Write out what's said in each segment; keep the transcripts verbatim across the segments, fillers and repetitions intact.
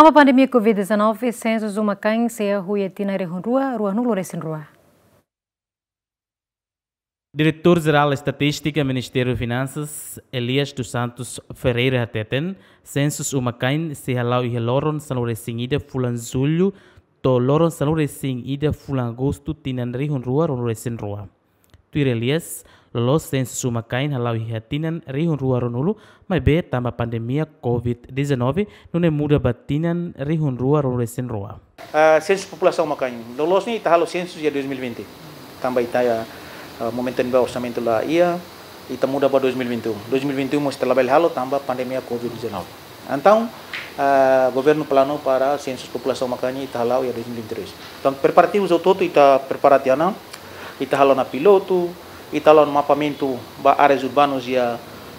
Tanba pandemia covid dezanove, sensus uma-kain sei hahú iha tinan rihun rua, ruanulu resin rua. Diretór Jerál Estatístika Ministériu Finansas, Elias dos Santos Ferreira hateten, sensus uma-kain sei hala'o iha loron sanulu resin ida fulan Jullu, to'o loron sanulu resin ida fulan Agostu tinan rihun rua ruanulu resin rua. Tuir Elias, loloos sensus uma-kain hala'o iha tinan rihun rua ruanulu, maibé tanba pandemia covid dezanove, nune'e muda ba tinan rihun rua ruanulu resin rua. Ah, sensus populasaun uma-kain. Loloos ne'e ita halo sensus iha dois mil e vinte. Tanba ita iha, ah, momentu ne'ebá orsamentu la iha, ita muda ba dois mil e vinte e um. Dois mil e vinte e um mós ita labele halo tanba pandemia covid dezanove. Entaun, ah, governu planu para sensus populasaun uma-kain ita hala'o iha dois mil e vinte e dois. Entaun, preparativus hotu-hotu ita prepara tiha ona, ita halo ona pilotu, ita halo ona mapeamentu ba áreas urbanus iha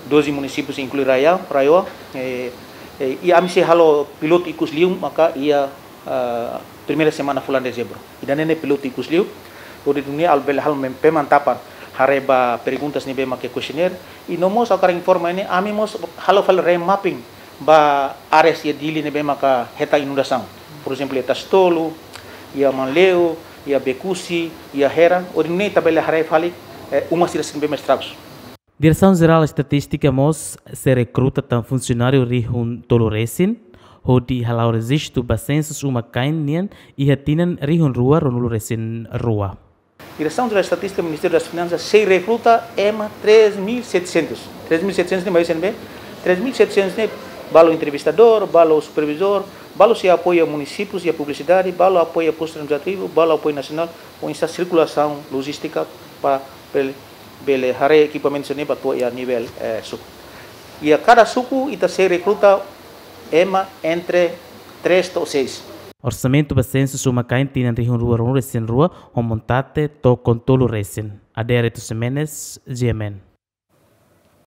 doze munisípius inklui RAEOA, RAEOA, eh, eh, i ami sei halo pilotu ikus liu maka iha, ah, primeira semana fulan Dezembru. Ida-ne'e ne'e pilotu ikus liu, hodi nune'e ami bele halo mem-, pemantapan, haree ba perguntas ne'ebé mak iha questionnaire, i no mós hakarak informa ne'e, ami mós halo fali remapping ba áreas iha Dili ne'ebé maka hetan inundasaun. Por ezemplu, iha Tasitolu, iha Manleu, iha Bekusi, iha Hera, hodi nune'e ita bele haree fali, eh, uma sira-ne'ebé mak estragus. Diresaun Jerál Estatístika mós sei rekruta tan funsionáriu rihun tolu resin, hodi hala'o rejistu ba sensus uma-kain nian iha tinan rihun rua ruanulu resin rua. Diresaun Jerál Estatístika Ministériu das Finansas sei rekruta ema três mil e setecentos. Três mil e setecentos ne'e mai husi ne'ebé? Três mil e setecentos ne'e balu entrevistadór, balu supervizór, balu sei apoia munisípius iha publisidade, balu apoia postu administrativu, balu apoia nasionál, oinsá sirkulasaun lojístika para bele, bele haree ekipamentu sira-ne'e ba to'o iha nivel, eh, suku. Iha kada suku ita sei rekruta ema entre três to'o seis. Orsamentu ba sensus uma-kain tinan rihun rua ruanulu resin rua, ho montante tokon tolu resin. Adérito Ximenes, G M N.